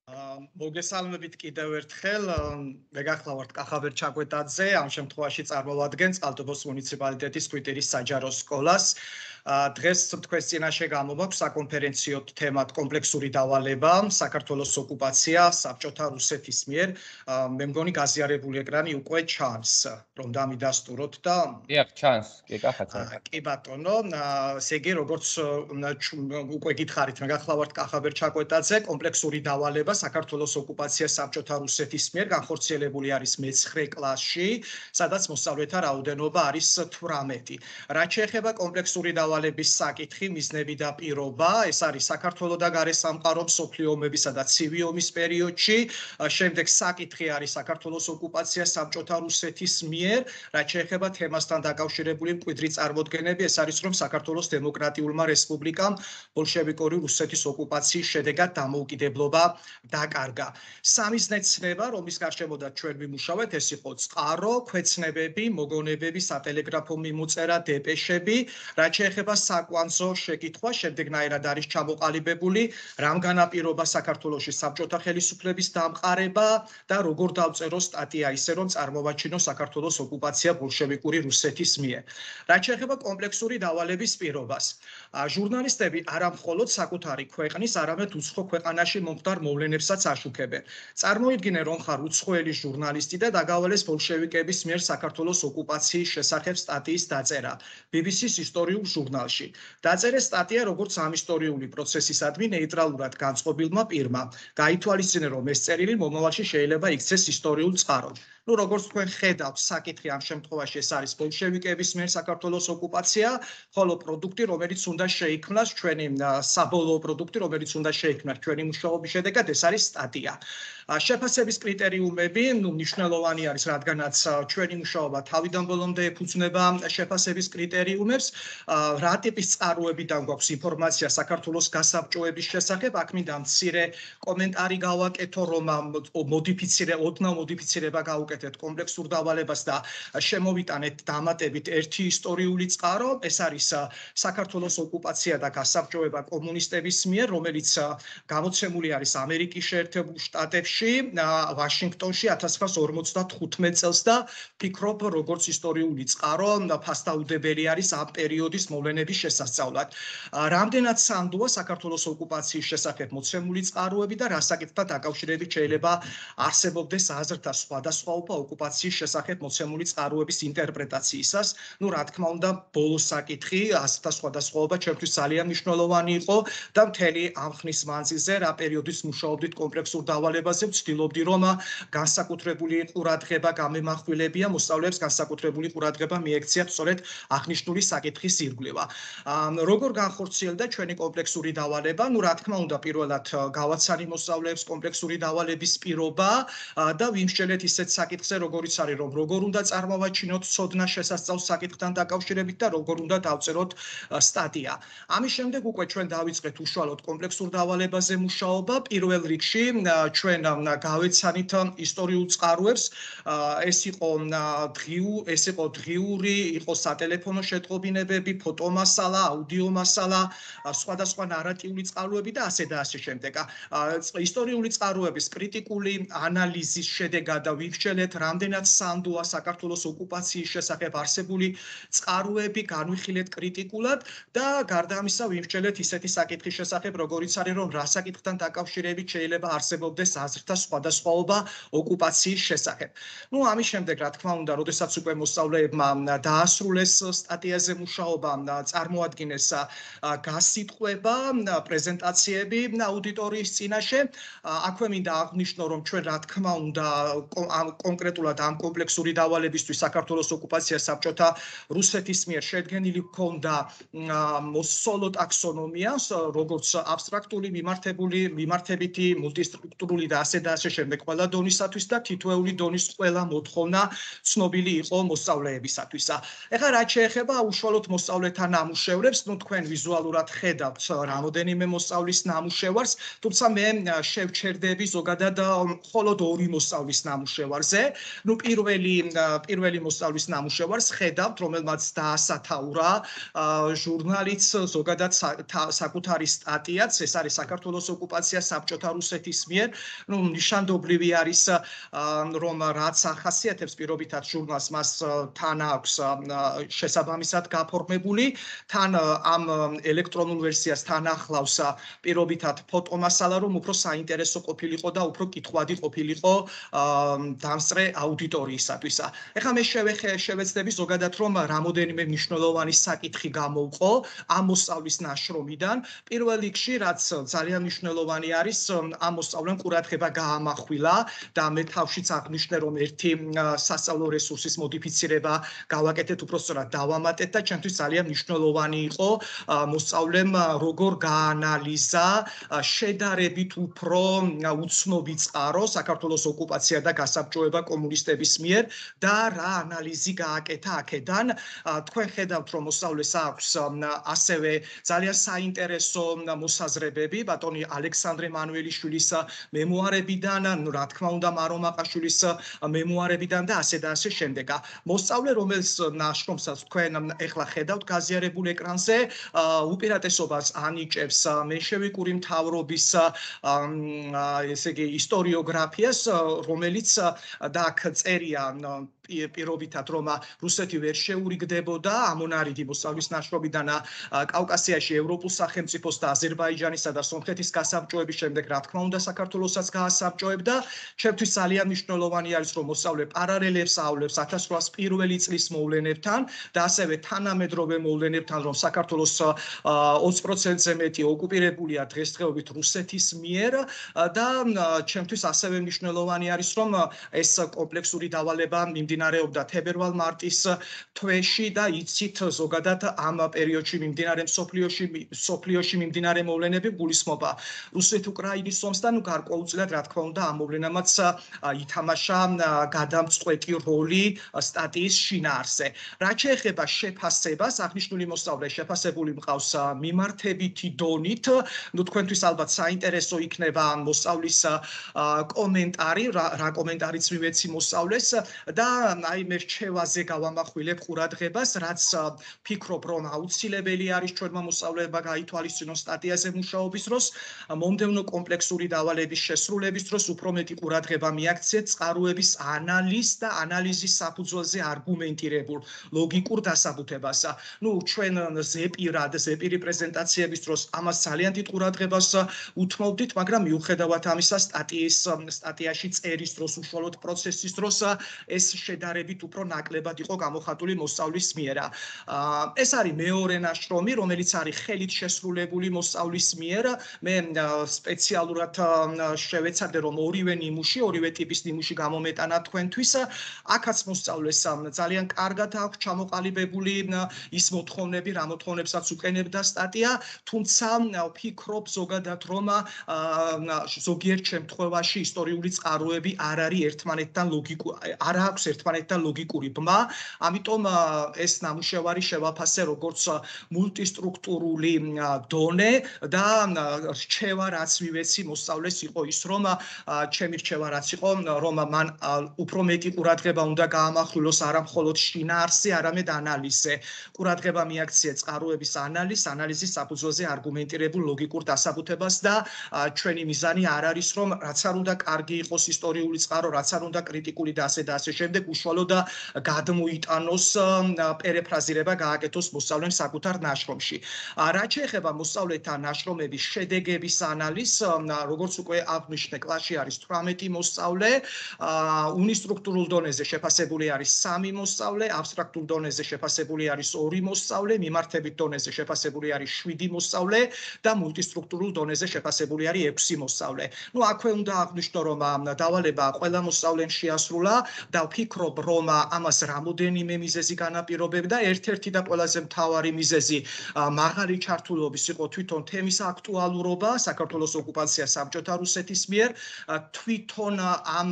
მოგესალმებით კიდევ ერთხელ. მე გახლავართ კახაბერ ჩაკვეტაძე, ამ შემთხვევაში წარმოვადგენს ყალტუბოს მუნიციპალიტეტის კვიტირის საჯარო სკოლას. დღეს თქვენს წინაშე გამოგვაქვს საკონფერენციო თემად კომპლექსური დავალება, საქართველოს ოკუპაცია საბჭოთა რუსეთის მიერ. მე მგონი გაზიარებული ეკრანი უკვე ჩანს, რომ დამიდასტუროთ და დიახ, ჩანს, კი კახაცა. კი ბატონო, ესე იგი, როგორც უკვე გითხარით, მე გახლავართ კახაბერ ჩაკვეტაძე, კომპლექსური დავალება საქართველოს ოკუპაცია საბჭოთა რუსეთის მიერ განხორციელებული არის მე-9 კლასში, სადაც მოსწავლეთა რაოდენობა არის 18. რაც შეეხება კომპლექსური დავალების საკითხი, მიზნები და პირობა, ეს არის საქართველოს და გარესამყარო მსოფლიო ომებისა და ცივი ომის პერიოდში. შემდეგ საკითხი არის საქართველოს ოკუპაცია საბჭოთა რუსეთის მიერ, რაც შეეხება თემასთან დაკავშირებული მკვიდრი წარმოდგენები, ეს არის რომ საქართველოს დემოკრატიულმა რესპუბლიკამ ბოლშევიკური რუსეთის ოკუპაციის შედეგად დამოუკიდებლობა დაკარგა. სამიზნე ცნება, რომლის გარშემოდაც ჩვენ ვიმუშავეთ, ეს იყო წყარო, ქვეცნებები, მოგონებები, სატელეგრაფო მიმოწერა, დეპეშები, რაც შეეხება საკვანძო შეკითხვა, შემდეგნაირად არის ჩამოყალიბებული, რამ განაპირობა საქართველოში საბჭოთა ხელისუფლების დამყარება და როგორ დავწერო სტატია ისე, რომ წარმოვაჩინო საქართველოს ოკუპაცია ბოლშევიკური რუსეთის მიერ. რაც შეეხება კომპლექსური დავალების პირობას, ჟურნალისტები არა მხოლოდ საკუთარი ქვეყნის, არამედ უცხო ქვეყანაში მომხდარ მოვლენებსაც აშუქებენ. წარმოიდგინე, რომ ხარ უცხოელი ჟურნალისტი და დაგავალეს ბოლშევიკების მიერ საქართველოს ოკუპაციის შესახებ სტატიის დაწერა BBC-ს ისტორიულ ჟურნალში. დაწერე სტატია როგორც ამ ისტორიული პროცესისადმი ნეიტრალურად განწყობილმა პირმა. გაითვალისწინე, რომ ეს წერილი მომავალში შეიძლება იქცეს ისტორიულ წყაროდ. როგორც თქვენ ხედავთ, საკითხი ამ შემთხვევაში ეს არის ბოლშევიკების მიერ საქართველოს ოკუპაცია, ხოლო პროდუქტი, რომელიც უნდა შეიქმნას ჩვენი საბოლოო პროდუქტი, რომელიც უნდა შეიქმნას ჩვენი მუშაობის შედეგად, ეს არის სტატია. შეფასების კრიტერიუმები, მნიშვნელოვანი არის, რადგანაც ჩვენი მუშაობა თავიდან ბოლომდე ეფუძნება შეფასების კრიტერიუმებს, რა ტიპის წყაროებიდან გვაქვს ინფორმაცია საქართველოს გასაბჭოების შესახებ, აქ მინდა მცირე კომენტარი გავაკეთო, რომ ოდნავ მოდიფიცირება გავუკეთეთ კომპლექსურ დავალებას და შემოვიტანეთ დამატებით ერთი ისტორიული წყარო, ეს არის საქართველოს ოკუპაცია და გასაბჭოება კომუნისტების მიერ, რომელიც გამოცემული არის ამერიკის შეერთებულ შტატებში, ვაშინგტონში 1955 წელს და ფიქრობ, როგორც ისტორიული წყარო, ფასდაუდებელი არის ამ პერიოდის მოვლენების შესასწავლად. რამდენად სანდოა საქართველოს ოკუპაციის შესახებ მოცემული წყაროები და რა საკითხთან დაკავშირებით შეიძლება არსებობდეს აზრთა სხვადასხვაობა ოკუპაციის შესახებ მოცემული წყაროების ინტერპრეტაციისას. რა თქმა უნდა, ბოლო საკითხი, აზრთა სხვადასხვაობა ჩემთვის ძალიან მნიშვნელოვანი იყო და მთელი ამ ხნის მანძილზე რა პერიოდის მუშაობდით კომპლექსურ დავალებაზე, ვცდილობდი, რომ განსაკუთრებული ყურადღება გამემახვილებია მოსწავლეებს, განსაკუთრებული ყურადღება მიექციათ სწორედ აღნიშნული საკითხის ირგვლივ. როგორ განხორციელდა ჩვენი კომპლექსური დავალება? რა თქმა უნდა, პირველად გავაცანი მოსწავლეებს კომპლექსური დავალების პირობა და ვიმსჯელეთ ისეთ საკითხზე, როგორიც არის, რომ როგორ უნდა წარმოვაჩინოთ ცოდნა შესასწავლ საკითხთან დაკავშირებით და როგორ უნდა დავწეროთ სტატია. ამის შემდეგ უკვე ჩვენ დავიწყეთ უშუალოდ კომპლექსურ დავალებაზე მუშაობა. პირველ რიგში ჩვენ გავეცანით ისტორიულ წყაროებს. ეს იყო დღიური, იყო სატელეფონო შეტყობინებები, ფოტომასალა, აუდიო მასალა, სხვადასხვა ნარატიული წყაროები და ასე და ასე შემდეგ. ისტორიული წყაროების კრიტიკული ანალიზის შედეგად ვიმსჯელეთ, რამდენად სანდოა საქართველოს ოკუპაციის შესახებ არსებული წყაროები, განვიხილეთ კრიტიკულად და გარდა ამისა ვიმსჯელეთ ისეთი საკითხის შესახებ, როგორიც არის, რომ რა საკითხთან დაკავშირებით შეიძლება არსებობდეს აზრთა სხვადასხვაობა ოკუპაციის შესახებ. ამის შემდეგ, რა თქმა უნდა, როდესაც უკვე მოსწავლეებმა დაასრულეს სტატიაზე მუშაობა, წარმოადგინეს გასიტყვება, პრეზენტაციები აუდიტორიის წინაშე. აქვე მინდა აღნიშნო, რომ ჩვენ რა თქმა უნდა კონკრეტულად ამ კომპლექსური დავალებისთვის საქართველოს ოკუპაცია საბჭოთა რუსეთის მიერ შედგენილი ჰქონდა სოლო ტაქსონომია, როგორც აბსტრაქტული, მიმართებითი, მულტისტრუქტურული და ასე და ასე შემდეგ ყველა დონისათვის და თითოეული დონის ყველა მოთხოვნა ცნობილი იყო მოსწავლეებისათვის. ეხლა რაც შეეხება უშუალოდ მოსწავლეთა ნამუშევრებს, თქვენ ვიზუალურად ხედავთ რამოდენიმე მოსწავლის ნამუშევარს, თუმცა მე შევჩერდები ზოგადად მხოლოდ ორი მოსწავლის ნამუშევარზე. ნუ პირველი მოსწავლის ნამუშევარს ხედავთ, რომელმაც დაასათაურა ჟურნალიც, ზოგადად საკუთარი სტატიაც, ეს არის საქართველოს ოკუპაცია საბჭოთა რუსეთის მიერ. ნუ ნიშანდობლივი არის, რომ რაც ახასიათებს პირობითად ჟურნალს, მას თან აქვს შესაბამისად გაფორმებული, თან ამ ელექტრონულ ვერსიას თან ახლავს პირობითად ფოტომასალა, რომ უფრო საინტერესო ყოფილიყო და უფრო კითხვადი ყოფილიყო დამსწრე აუდიტორიისათვის. ეხლა მე შევეცდები ზოგადად, რომ რამოდენიმე მნიშვნელოვანი საკითხი გამოვყო ამ მოსწავლის ნაშრომიდან. პირველ რიგში, რაც ძალიან მნიშვნელოვანი არის, ამ მოსწავლემ ყურადღება გაამახვილა და მე თავშიც აღნიშნე, რომ ერთი სასწავლო რესურსის მოდიფიცირება გავაკეთეთ, უფრო სწორად დავამატეთ და ჩემთვის ძალიან მნიშვნელოვანი იყო მოსწავლემ როგორ გაანალიზა შედარებით უფრო უცნობი წყარო საქართველოს ოკუპაცია და გასაბჭოება კომუნისტების მიერ და რა ანალიზი გააკეთა აქედან. თქვენ ხედავთ, რომ მოსწავლეს აქვს ასევე ძალიან საინტერესო მოსაზრებები ბატონი ალექსანდრე მანუელიშვილის მემუარებიდან, რა თქმა უნდა მარო მაყაშვილის მემუარებიდან და ასე და ასე შემდეგ. მოსწავლე, რომელიც ნაშრომსაც თქვენ ეხლა ხედავთ გაზიარებულ ეკრანზე, უპირატესობას ანიჭებს მენშევიკური მთავრობის ესე იგი ისტორიოგრაფიას, რომელიც და აქ წერია პირობითად, რომ რუსეთი ვერ შეურიგდებოდა ამონარიდი მოსწავლის ნაშრომიდან კავკასიაში ევროპულ სახელმწიფოს და აზერბაიჯანისა და სომხეთის გასაბჭოების შემდეგ, რა თქმა უნდა, საქართველოსაც გაასაბჭოებდა. ჩემთვის ძალიან მნიშვნელოვანი არის, რომ მოსწავლე პარალელებს აავლებს 1801 წლის მოვლენებთან და ასევე თანამედროვე მოვლენებთან, რომ საქართველოს 20%-ზე მეტი ოკუპირებულია დღესდღეობით რუსეთის მიერ და ჩემთვის ასევე მნიშვნელოვანი არის, რომ ეს კომპლექსური დავალება მიმდინარეობდა თებერვალ-მარტის თვეში და იცით ზოგადად ამ პერიოდში მიმდინარე მსოფლიოში მიმდინარე მოვლენები გულისხმობა რუსეთ-უკრაინის ომს და გარკვეულწილად, რა თქმა უნდა, ამ მოვლენამაც ითამაშა გადამწყვეტი როლი სტატიის შინაარსზე. რაც შეეხება შეფასებას, აღნიშნული მოსწავლე შეფასებული მყავს მიმართებითი დონით. ნუ თქვენთვის ალბათ საინტერესო იქნება მოსწავლის კომენტარი, რა კომენტარიც მივეცი მოსწავლეს და აი მე რჩევაზე გავამახვილებ ყურადღებას, რაც ფიქრობ, რომ აუცილებელი არის ჩვენმა მოსწავლეებმა გაითვალისწინონ სტატიაზე მუშაობის დროს, მომდევნო კომპლექსური დავალების შესრულების დროს უფრო მეტი ყურადღება მიაქციეთ წყაროების ანალიზს და ანალიზის საფუძველზე არგუმენტირებულ ლოგიკურ დასაბუთებას. ნუ ჩვენ ზეპირი პრეზენტაციების დროს ამას ძალიან დიდ ყურადღებას უთმობდით, მაგრამ მიუხედავად ამისა სტატიაში წერის დროს, უშუალოდ პროცესის დროს ეს შედარებით უფრო ნაკლებად იყო გამოხატული მოსწავლის მიერ. ეს არის მეორე ნაშრომი, რომელიც არის ხელით შესრულებული მოსწავლის მიერ. მე სპეციალურად შევეცადე, რომ ორივე ტიპის ნიმუში გამომეტანა თქვენთვის. აქაც მოსწავლეს ძალიან კარგად აქვს ჩამოყალიბებული ის მოთხოვნები, რა მოთხოვნებსაც უყენებდა სტატია, თუმცა ვფიქრობ ზოგადად, რომ ზოგიერთ შემთხვევაში ისტორიული წყაროები არ აქვს ერთმანეთთან ლოგიკური ბმა, ამიტომ ეს ნამუშევარი შევაფასე როგორც მულტისტრუქტურული დონე და რჩევა, რაც მივეცი მოსწავლეს იყო ის, რომ ჩემი რჩევა რაც იყო, რომ მან უფრო მეტი ყურადღება უნდა გაამახვილოს არა მხოლოდ შინაარსზე, არამედ ანალიზზე. ყურადღება მიაქცია წყაროების ანალიზის საფუძველზე არგუმენტირებულ ლოგიკურ დასაბუთებას და ჩვენი მიზანი არ არის, რომ რაც არ უნდა კარგი იყოს ისტორიული წყარო, რაც არ უნდა კრიტიკული და ასე და ასე შემდეგ, უშუალოდ და გადმოიტანოს პერეფრაზირება გააკეთოს მოსწავლემ საკუთარ ნაშრომში. რაც შეეხება მოსწავლეთა ნაშრომების შედეგების ანალიზს, როგორც უკვე აღნიშნე, კლასში არის 18 მოსწავლე, უნისტრუქტურულ დონეზე შეფასებული არის 3 მოსწავლე, აბსტრაქტულ დონეზე შეფასებული არის 2 მოსწავლე, მიმართებით დონეზე შეფასებული არის 7 მოსწავლე და მულტისტრუქტურულ დონეზე შეფასებული არის 6 მოსწავლე. ნუ აქვე უნდა აღნიშნო, რომ დავალება ყველა მოსწავლემ შეასრულა და ვფიქრობ, რომ ამას რამოდენიმე მიზეზი განაპირობებდა. ერთ-ერთი და ყველაზე მთავარი მიზეზი მაღალი ჩართულობის იყო თვითონ თემის აქტუალურობა, საქართველოს ოკუპაცია საბჭოთა რუსეთის მიერ. თვითონ ამ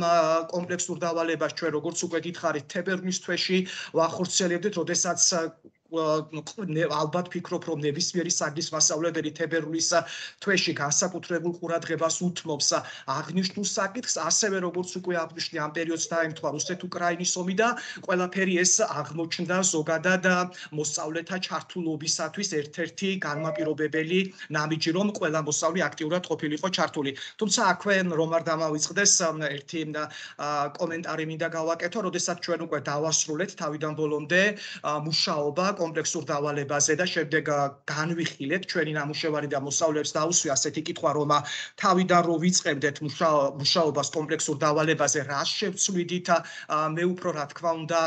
კომპლექსურ დავალებას ჩვენ როგორც უკვე გითხარით, თებერვლის თვეში ვახორციელებდით, როდესაც ალბათ ფიქრობ, რომ ნებისმიერი საგნის მასწავლებელი თებერვლის თვეში განსაკუთრებულ ყურადღებას უთმობს აღნიშნულ საკითხს, ასევე როგორც უკვე აგვნიშნე, ამ პერიოდს დაემთხვა რუსეთ-უკრაინის ომი და ყველაფერი ეს აღმოჩნდა ზოგადად მოსწავლეთა ჩართულობისათვის ერთ-ერთი განმაპირობებელი ნამიჯი, რომ ყველა მოსწავლე აქტიურად ყოფილიყო ჩართული. თუმცა აქვე რომ არ დამავიწყდეს ერთი კომენტარი მინდა გავაკეთო, როდესაც ჩვენ უკვე დავასრულეთ თავიდან ბოლომდე მუშაობა კომპლექსურ დავალებაზე და შემდეგ განვიხილეთ ჩვენი ნამუშევარი და მოსწავლეებს დაუსვი ასეთი კითხვა, რომ თავიდან რო ვიწყებდეთ მუშაობას კომპლექსურ დავალებაზე, რა შევცვლიდით, მე უფრო რა თქმა უნდა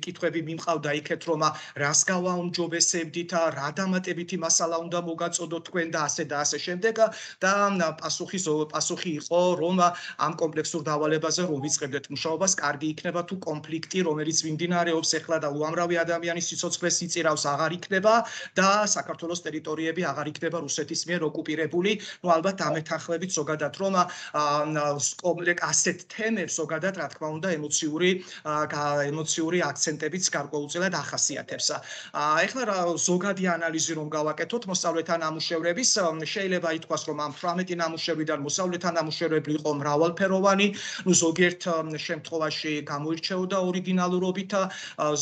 კითხვები მიმყავდა იქეთ, რომ რას გავაუმჯობესებდით, რა დამატებითი მასალა უნდა მოგაწოდოთ თქვენ და ასე შემდეგ და პასუხი იყო, რომ ამ კომპლექსურ დავალებაზე რომ ვიწყებდეთ მუშაობას, კარგი იქნება თუ კონფლიქტი, რომელიც მიმდინარეობს ახლა და უამრავი ადამიანის სიცოცხლეს იწირავს, აღარ იქნება და საქართველოს ტერიტორიები აღარ იქნება რუსეთის მიერ ოკუპირებული. ნუ ალბათ ამეთანხმებით ზოგადად, რომ ასეთ თემებს ზოგადად რა თქმა უნდა ემოციური აქცენტებიც გარკვეულწილად ახასიათებს. ეხლა ზოგადი ანალიზი რომ გავაკეთოთ მოსწავლეთა ნამუშევრების, შეიძლება ითქვას, რომ ამ 18 ნამუშევრიდან მოსწავლეთა ნამუშევრები იყო მრავალფეროვანი, ნუ ზოგიერთ შემთხვევაში გამოირჩეოდა ორიგინალურობით,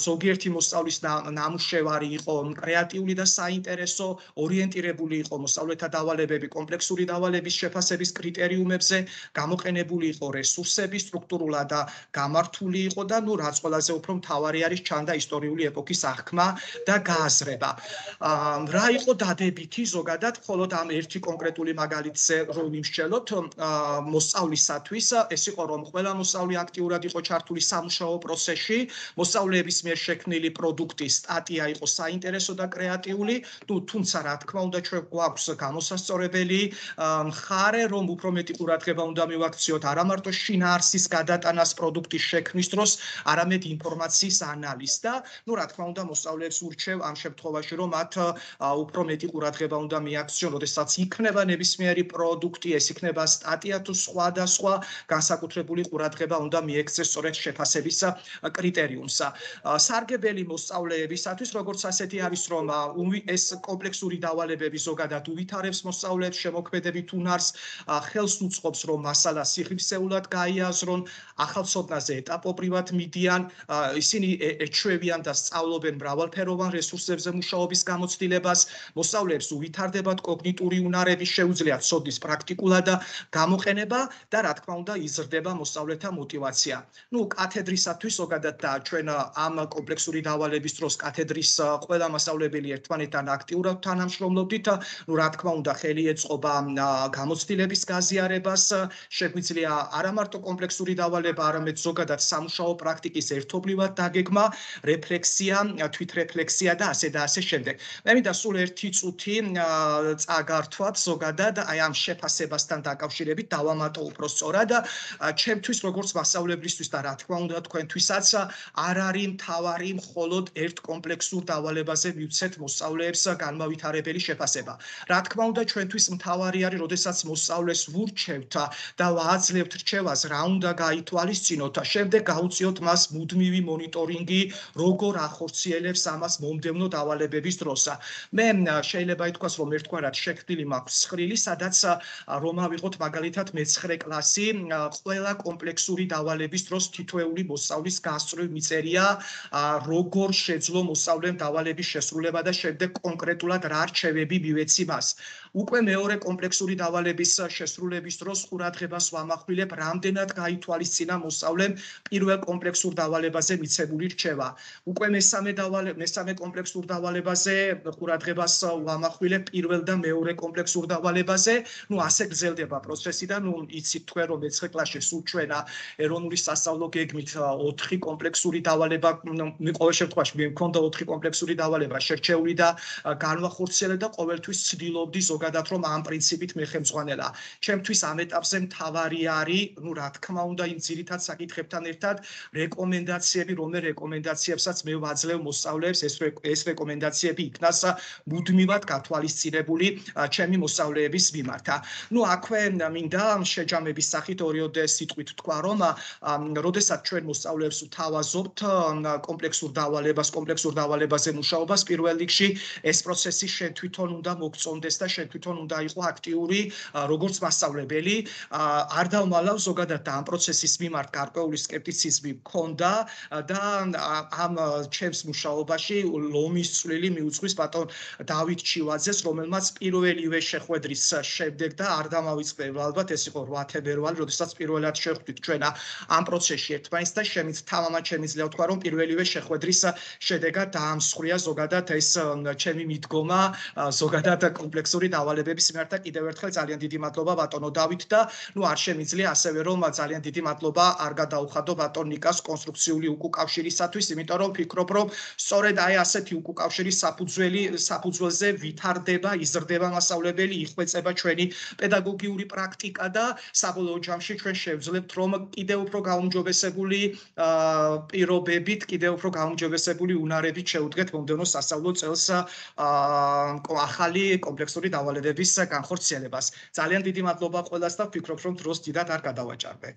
ზოგიერთი მოსწავლის ნამუშევარი იყო კრეატიული და საინტერესო, ორიენტირებული იყო მოსწავლეთა დავალებები კომპლექსური დავალების შეფასების კრიტერიუმებზე, გამოყენებული იყო რესურსები, სტრუქტურულად და გამართული იყო და ნუ რაც ყველაზე უფრო მთავარი არის ჩანდა ისტორიული ეპოქის აღქმა და გააზრება. რა იყო დადებითი ზოგადად, მხოლოდ ამ ერთი კონკრეტული მაგალითზე რომ ვიმსჯელოთ მოსწავლისათვის, ეს იყო რომ ყველა მოსწავლე აქტიურად იყო ჩართული სამუშაო პროცესში, მოსწავლეების მიერ შექმნილი პროდუქტი, სტატია იყო საინტერესო და კრეატიული, თუმცა რა თქმა უნდა ჩვენ გვაქვს გამოსასწორებელი მხარე, რომ უფრო მეტი ყურადღება უნდა მივაქციოთ არა მარტო შინაარსის გადატანას პროდუქტის შექმნის დროს, არამედ ინფორმაციის ანალიზს და ნუ რა თქმა უნდა მოსწავლეებს ურჩევ ამ შემთხვევაში, რომ მათ უფრო მეტი ყურადღება უნდა მიაქციონ, როდესაც იქნება ნებისმიერი პროდუქტი, ეს იქნება სტატია თუ სხვადასხვა, განსაკუთრებული ყურადღება უნდა მიექცეს სწორედ შეფასების კრიტერიუმს. სარგებელი მოსწავლეებისათვის, როგორც ასეთი არის, რომ ეს კომპლექსური დავალებები ზოგადად უვითარებს მოსწავლეებს შემოქმედებით უნარს, ხელს უწყობს, რომ მასალა სიღრმისეულად გაიაზრონ, ახალ ცოდნაზე ეტაპობრივად მიდიან, ისინი ეჩვევიან და სწავლობენ მრავალფეროვან რესურსებზე მუშაობის გამოცდილებას, მოსწავლეებს უვითარდებათ კოგნიტური უნარები, შეუძლიათ ცოდნის პრაქტიკულად გამოყენება და რა თქმა უნდა იზრდება მოსწავლეთა мотиваცია. ნუ კათედრისათვის ზოგადად და ჩვენ ამ კომპლექსური დავალების დროს კათედრის ყველა მასწავლებელი ერთმანეთთან აქტიურად თანამშრომლობდით, ნუ რა თქმა უნდა ხელი ეწყობა გამოცდილების გაზიარებას, შეგვიძლია არა მარტო კომპლექსური დავალება, არამედ ზოგადად სამუშაო პრაქტიკის ერთობლივად დაგეგმა, რეფლექსია, თვითრეფლექსია და ასე შემდეგ. მე მინდა სულ ერთი წუთი წაგართვათ ზოგადად აი ამ შეფასებასთან დაკავშირებით დავამატო უფრო სწორად. ჩემთვის როგორც მასწავლებლისთვის და რა თქმა უნდა თქვენთვისაც არ არის მთავარი მხოლოდ ერთ კომპლექსურ დავალებაზე მივცეთ მოსწავლეებს განმავითარებელი შეფასება. რა თქმა უნდა ჩვენთვის მთავარი არის, როდესაც მოსწავლეს ვურჩევთ და ვაძლევთ რჩევას, რა უნდა გაითვალისწინოთ, შემდეგ გაუწიოთ მას მუდმივი მონიტორინგი, როგორ ახორციელებს ამას მომდევნო დავალებების დროს. მე შეიძლება ითქვას, რომ ერთგვარად შექმნილი მაქვს ცხრილი, სადაც რომ ავიღოთ მაგალითად მე-9 კლასი, ყველა კომპლექსური დავალების დროს თითოეული მოსწავლის გასწვრივ მიწერია, როგორ შეძლო მოსწავლემ დავალების შესრულება და შემდეგ კონკრეტულად რა რჩევები მივეცი მას. უკვე მეორე კომპლექსური დავალების შესრულების დროს ყურადღებას ვამახვილებ, რამდენად გაითვალისწინა მოსწავლემ პირველ კომპლექსურ დავალებაზე მიცემული რჩევა. უკვე მესამე კომპლექსურ დავალებაზე ყურადღებას ვამახვილებ პირველ და მეორე კომპლექსურ დავალებაზე. ნუ ასე გრძელდება პროცესი და ნუ იცით თქვენ რომ მე-9 კლასში სულ ჩვენ ეროვნული სასწავლო გეგმით 4 კომპლექსური დავალება, ყოველ შემთხვევაში მე მქონდა 4 კომპლექსური დავალება შერჩეული და განვახორციელე და ყოველთვის ცდილობდი ზოგადად რომ ამ პრინციპით მეხემძღვანელა. ჩემთვის ამ ეტაპზე მთავარი არის, ნუ რა თქმა უნდა იმ ძირითად საკითხებთან ერთად რეკომენდაციები, რომელ რეკომენდაციებსაც მე ვაძლევ მოსწავლეებს, ეს რეკომენდაციები იქნას მუდმივად გათვალისწინებული ჩემი მოსწავლეების მიმართ. ნუ აქვე მინდა შეჯამების სახით ორიოდე სიტყვით თქვა, რომ როდესაც ჩვენ მოსწავლეებს ვთავაზობთ კომპლექსურ დავალებას, კომპლექსურ დავალებაზე მუშაობას პირველ რიგში ეს პროცესი შენ თვითონ უნდა მოგწონდეს და შენ თვითონ უნდა იყო აქტიური როგორც მასწავლებელი არ დავმალავ ზოგადად და ამ პროცესის მიმართ გარკვეული სკეპტიციზმი მქონდა და ამ ჩემს მუშაობაში ლომის წვლილი მიუძღვის ბატონ დავით ჩივაძეს რომელმაც პირველივე შეხვედრის შემდეგ და არ დამავიწყდა ალბათ ეს იყო 8 თებერვალი როდესაც პირველად შევხვდით ჩვენ ამ პროცესში ერთმანეთს და თამამად შემიძლია ვთქვა რომ პირველივე შეხვედრის შედეგად დაამსხვრია ზოგადად ეს ჩემი მიდგომა ზოგადად კომპლექსური დავალებების მიმართ და კიდევ ერთხელ ძალიან დიდი მადლობა ბატონო დავით და არ შემიძლია ასევე რომ ძალიან დიდი მადლობა არ გადაუხადო ბატონ ნიკას კონსტრუქციული უკავშირისათვის იმიტომ რომ ფიქრობ რომ სწორედ აი ასეთი უკავშირის საფუძველზე ვითარდება იზრდება მასწავლებელი იხვეწება ჩვენი პედაგოგიური პრაქტიკა და საბოლოო ჯამში ჩვენ შევძლებთ რომ კიდევ უფრო გაუმჯობესებული პირობებით კიდევ უფრო გაუმჯობესებული უნარებით შევუდგეთ მომდევნო სასწავლო წელს ახალი კომპლექსური დავალებების განხორციელებას. ძალიან დიდი მადლობა ყველას და ვფიქრობ რომ დროს დიდად არ გადავაჭარბე.